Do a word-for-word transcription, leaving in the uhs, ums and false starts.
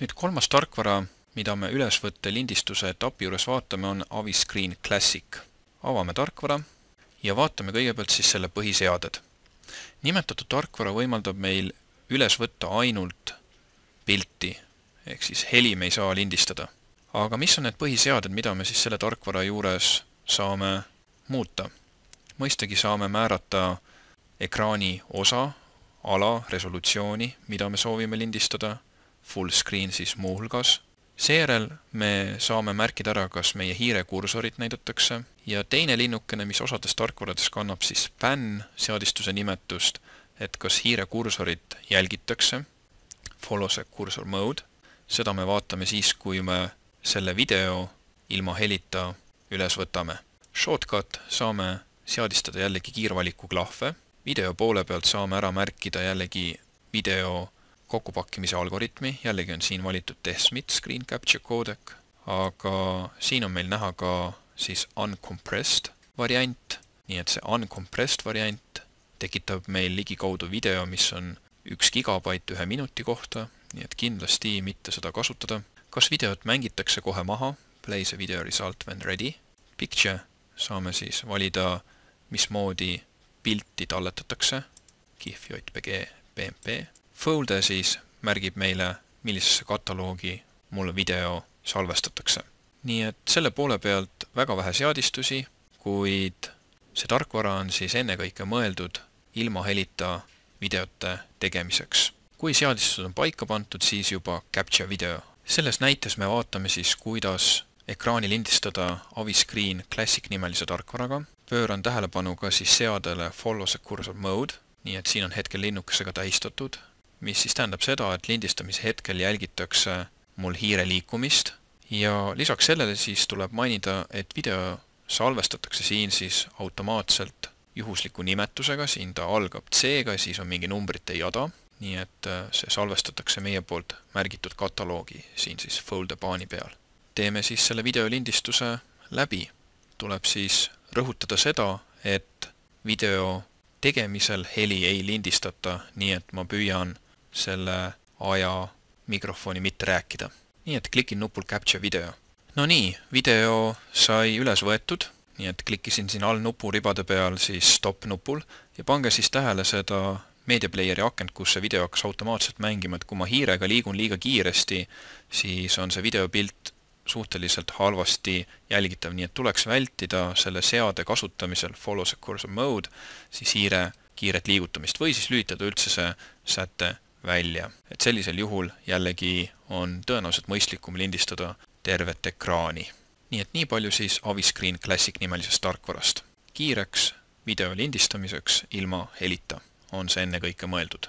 Nüüd kolmas tarkvara, mida me ülesvõtte lindistuse etapi juures vaatame, on Aviscreen Classic. Avame tarkvara ja vaatame kõigepealt siis selle põhiseaded. Nimetatud tarkvara võimaldab meil üles võtta ainult pilti, ehk siis heli me ei saa lindistada. Aga mis on need põhiseaded, mida me siis selle tarkvara juures saame muuta? Mõistagi saame määrata ekraani osa, ala, resolutsiooni, mida me soovime lindistada, full screen siis muuhulgas. Seejärel me saame märkida ära, kas meie hiire kursorit näidatakse ja teine linnukene, mis osades tarkvarades kannab siis pan seadistuse nimetust, et kas hiire kursorit jälgitakse, follows a cursor mode. Seda me vaatame siis, kui me selle video ilma helita üles võtame. Shortcut saame seadistada jällegi kiirvaliku klahve. Video poole pealt saame ära märkida jällegi video kokkupakkimise algoritmi. Jällegi on siin valitud T S M I T Screen Capture Codec, aga siin on meil näha ka siis uncompressed variant. Nii et see uncompressed variant tekitab meil ligikaudu video, mis on üks gigabait ühe minuti kohta, nii et kindlasti mitte seda kasutada. Kas videot mängitakse kohe maha? Play the video result when ready. Picture saame siis valida, mismoodi pilti talletatakse, GIF, J P G, P M P. Folder siis märgib meile, millisesse kataloogi mul video salvestatakse. Nii et selle poole pealt väga vähe seadistusi, kuid see tarkvara on siis ennekõike mõeldud ilma helita videote tegemiseks. Kui seadistused on paika pandud, siis juba Capture Video. Selles näites me vaatame siis, kuidas ekraani lindistada Aviscreen Classic nimelise tarkvaraga. Pööran tähelepanu ka siis seadele Follow the Cursor Mode, nii et siin on hetkel linnukesega tähistatud, mis siis tähendab seda, et lindistamise hetkel jälgitakse mul hiire liikumist ja lisaks sellele siis tuleb mainida, et video salvestatakse siin siis automaatselt juhusliku nimetusega, siin ta algab C-ga, siis on mingi numbrite jada, nii et see salvestatakse meie poolt märgitud kataloogi siin siis folder paani peal. Teeme siis selle videolindistuse läbi. Tuleb siis rõhutada seda, et video tegemisel heli ei lindistata, nii et ma püüan selle aja mikrofoni mitte rääkida. Nii et klikin nupul Capture Video. No nii, video sai üles võetud, nii et klikkisin siin all nupu ribade peal siis stop nupul ja pange siis tähele seda meediaplayeri akent, kus see video hakkas automaatselt mängima, et kui ma hiirega liigun liiga kiiresti, siis on see videopilt suhteliselt halvasti jälgitav, nii et tuleks vältida selle seade kasutamisel Follow the Cursor Mode, siis hiire kiiret liigutamist või siis lülitada üldse see säte välja. Et sellisel juhul jällegi on tõenäoliselt mõistlikum lindistada tervet ekraani. Nii et nii palju siis Aviscreen Classic nimelisest tarkvarast. Kiireks video lindistamiseks ilma helita on see ennekõike mõeldud.